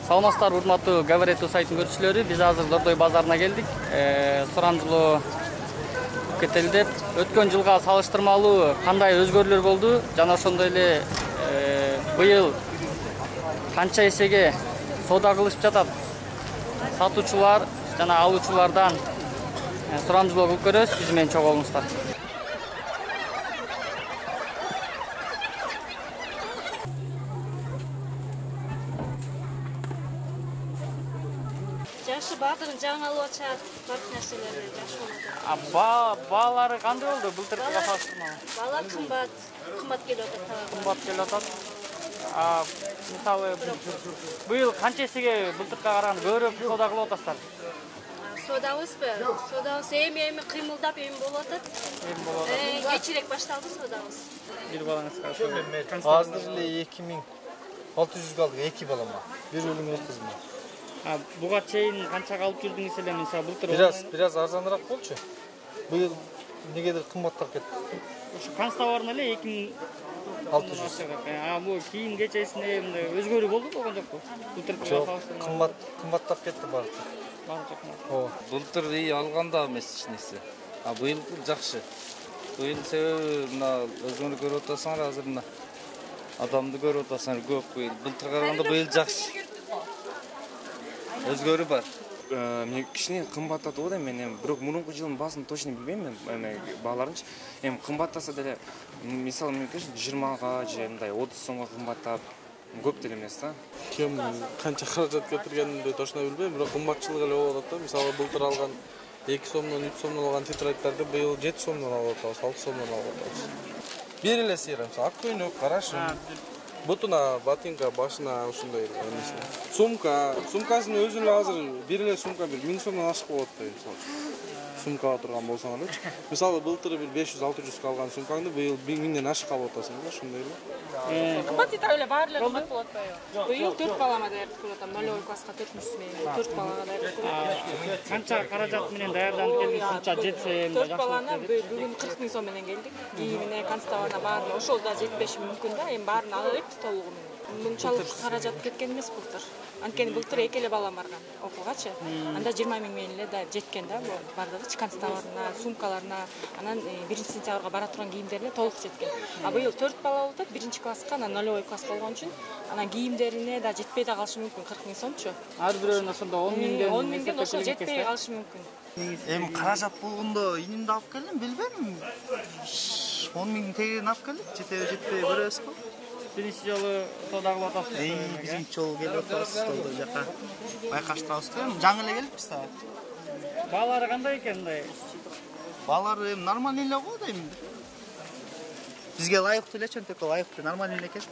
Саламатсыздарбы, урматтуу Говорит сайтынын көрүүчүлөрү. Биз азыр Дордой базарына келдик. Сурамжылоо кетелдеп, өткөн жылга салыштырмалуу кандай өзгөрүүлөр болду жана ошондой эле быйыл канча эсеге соода кылышып жатат сатуучулар жана алуучулардан сурамжылоо кылып көрөбүз. Биз менен чогуу болуңуздар. Жашы баардыгын жаңы алып атышат, бардык нерселерди жакшы болот. Баалары кандай болду былтыркыга салыштырмалуу? Баалар кымбат келип атат. Кымбат келип атат. Мисалы быйыл канча эсеге былтыркыга караганда көбүрөөк соода кылып атасыздар? Соодабызбы? Соодабыз эми кыймылдап болуп атат. Кечирээк башталды соодабыз. Бир балаңыз Азыр эле 2600 алдык 2 балама. Бир өлүм кызым. Буга чейин канча алып жүрдүңүз эле, мисалы былтыр? Бир аз арзаныраак болчу. Быйыл негедир кымбаттап кетти. Ушу канстоварына эле 2600. Бул кийим кечесинде мындай өзгөрүү болду болгон жокпу? Былтыркыга салыштырмалуу. Кымбаттап кетти баары. Былтыр алганда эмес ичнеси. Быйыл жакшы. Быйыл себеби мына өзүңөр көрүп атасыңар, азыр мына адамды көрүп атасыңар көп быйыл. Былтырга караганда быйыл жакшы. Өзгөрүү бар. Мен кичине кымбаттатып атам, мен бирок мурунку жылдын баасын точно билбейм, мен бааларынчы. Кымбаттаса деле, мисалы мен 20га же мындай 30 сомго кымбаттап көп деле эмес да. Ким канча каражат кетиргенин точно билбейм, бирок кымбатчылык эле болуп атат да. Мисалы былтыр алган 2 сомдон 3 сомдон алган тетрадьтарды быйыл 7 сомдон алып атабыз, 6 сомдон алып атабыз. Бир эле сыйра, ак көйнөк, кара шым, бутуна, ботинка, башына ушундай эмеси. Сумкасын өзүн эле азыр бир эле сумка 1000 сомдон ашык болот да, мисалы. Сумкага турган болсоңарчы. Мисалы былтыр бир 500-600 алган сумкаңды быйыл 1000ден ашык алып атасың да, ошондой эле. Кымбат дейт эле, баары эле кымбат болот атпайбы? Быйыл 4 балама даярдык көрүп атам. 0 класска 4-сү менен 4 балага даярдык көрүп атам. Канча каражат менен даярданып келдиңиз? Канча жетсе эмне 4 баланы бүгүн 40 000 сом менен келдик. Кийимине, канстоварына баарына ошол да жетпеши мүмкүн да. Эми баарын ала беребиз толугу менен. Мынчалык каражат кеткен эмес былтыр. Анткени былтыр 2 эле балам барган окуугачы. Анда 20 000 менен эле да жеткен да бул бардыгы канстоварына, сумкаларына, анан 1-сентябрга бара турган кийимдерине толук жеткен. Быйыл 4 бала болуп атат, 1-класска, анан 0 класс болгон үчүн анан кийимдерине да жетпей да калышы мүмкүн 40 000 сомчу. Ар бирөөнө ошондо 10 000ден ошол жетпей калышы мүмкүн. Эми каражат болгондо инимди алып келдим, билбейм. 10 000 тегерин алып келдик, жетпей көрөбүз го. Биринчи жолу соода кылып атасызбы? Биринчи жолу келип атабыз, толдой жака. Байкаштырабыз да, жаңы эле келиппиз да. Баалары кандай экен мындай? Баалары эми нормальный эле го дейм. Бизге ылайыктуу эле, чөнтөккө ылайыктуу, нормальный эле экен.